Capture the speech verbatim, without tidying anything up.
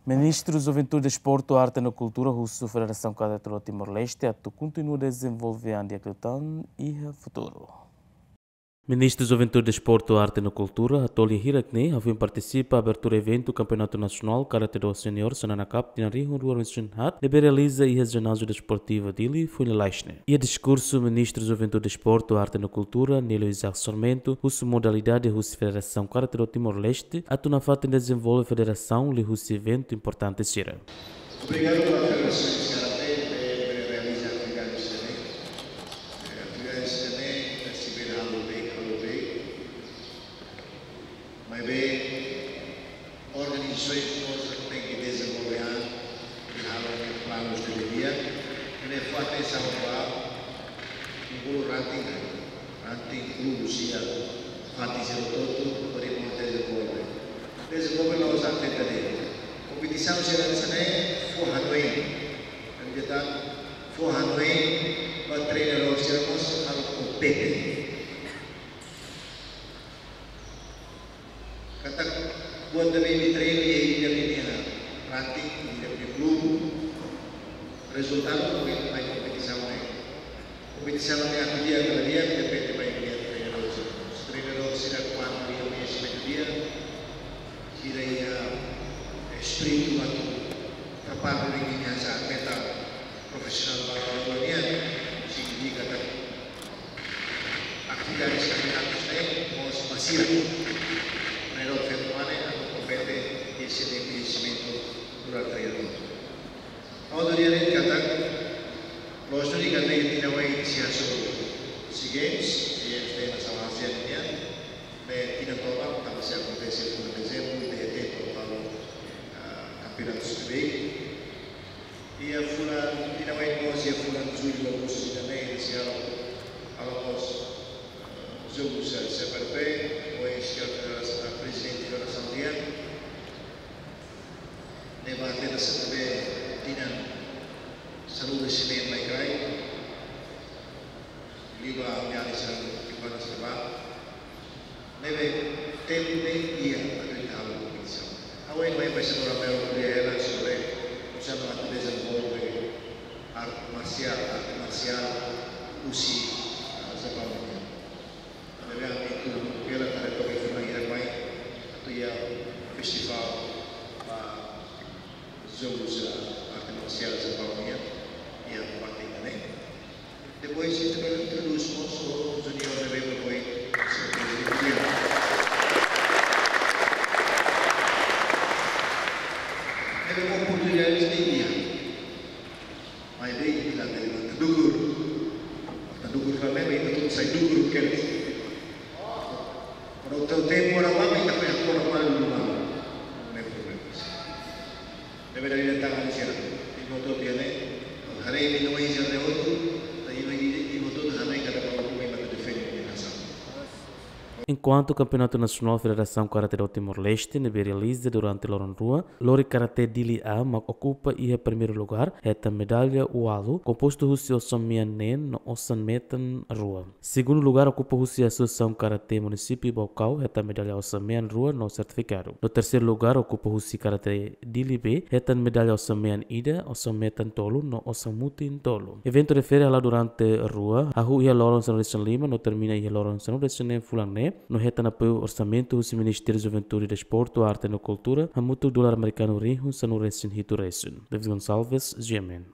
Ministru Juventude, Desportu, Arte no Kultura husu Federasaun Karate do Timor-Leste atu kontinua dezenvolve an di'ak liután iha futuru. Ministru Juventude, Desportu, Arte no Kultura, Atoli Hirakne, hafoin partisipa abertura eventu Kampeonatu Nasionál Karate do Senior Xanana Cup tinan rihun rua ruanulu-resin-haat, ne'ebé realiza iha Jináziu Desportivu Dili, foin lalais ne'e. Iha diskursu, Ministru Juventude, Desportu, Arte no Kultura, Nélio Isaac Sarmento, husu modalidade husi Federasaun Karate do Timor-Leste atu nafatin dezenvolve federasaun liuhusi eventu importante sira. Obrigadu ba Federasaun Karate ne'ebé realiza atividade sira-ne'e. Eh, atividade sira-ne'e, eh, sei bele halo bem, halo bem. Maibé organizasaun mós tenke dezenvolve an, i halo planu de dia. Ne'e fatin sira bá, i bolu ranting, ranting klube sira, fatin sira hotu, hodi mós dezenvolve. Dezenvolve la'ós atu tenta de'it. Kompetisaun sira hanesan ne'e fó hanoin. Entaun, fó hanoin ba treinadór sira mós halo kompete. Katak buat ne'ebé imi treinu iha imi-nia ranting, imi-nia klube, rezultadu ne'e mai kompetisaun ne'e. Kompetisaun ne'e atu di'ak ka la di'ak depende ba imi-nia treinadór. Treinadór sira kuandu iha koñesimentu di'ak, sira iha espíritu atu prepara diri hanesan atleta profisionál ba loloos nian, signifika katak atividade sira-ne'e mós bazeia. Primeiro, feto mane, atu kompete, esse de conhecimento durante o ano. Outro dia, ele canta, nós não ligamos, ele não vai iniciar sobre os seguintes, seguintes tem na sala asiática, né? Tinan tomak, tanba sei akontese fulan Dezembru, de tempo para, ah, kampeonatu sira-ne'e. Iha fulan, tinan oin mós iha fulan Jullu, Agostu, Setembru, sei halo, halo mós, eh, jogu C P R P, ohin señór Federasaun, Prezidente Federasaun nian, ne'ebé atleta sira ne'ebé tinan sanulu-resin-neen mai kraik, liuliu ami-nia alin sira, ki'ikoan sira bá. Ne'ebé tempu ne'e iha atu ita halo kompetisaun. Ha'u hanoin ba señór Romero ko'alia hela sobre oinsá mak atu dezenvolve arte marsiál, arte marsiál husi, ah, Japaun nian. Ne'ebé ami atu bele haree to'o fulan hira mai atu iha festivál ba jogu sira arte marsiál Japaun nian, iha fatin ne'e. Depois, ita bele introdús mós juniór ne'ebé foin, se prezidente. Ne'ebé oportunidade ne'e iha. Maibé ita la bele matan dukur. Matan dukur ka ne'ebé ita hotu sai dukur kedas. Kuandu tempu ora mama ita foin hakora malu dulu malu. Ne'e problema. Ne'ebé dala ida tan hanesan ne'e. Imi hotu bele haree imi-nia oin sira-ne'e hotu, imi, imi hotu haree katak balu mai atu defende imi-nia nasaun. Enkuantu Kampeonatu Nasionál Federasaun Karate do Timor-Leste ne'ebé realiza durante loron rua, lori Karate Dili A mak okupa iha primeiru lugár, hetan medalla ualu, kompostu husi osan mean neen no osan metan rua. Segundu lugár okupa husi Asosiasaun Karate Munisípiu Baucau, hetan medalla osan mean rua no sertifikadu. No terseiru lugár okupa husi Karate Dili B, hetan medalla osan mean ida, osan metan tolu no osan mutin tolu. Eventu refere hala'o durante rua, hahú iha loron sanulu-resin-lima no termina iha loron sanulu-resin-neen fulan ne'e, no hetan apoiu orsamentu husi Ministériu Juventude, Desportu, Arte no Kultura, hamutuk dolar amerikanu rihun sanulu-resin-hitu resin. David Gonçalves, G M N.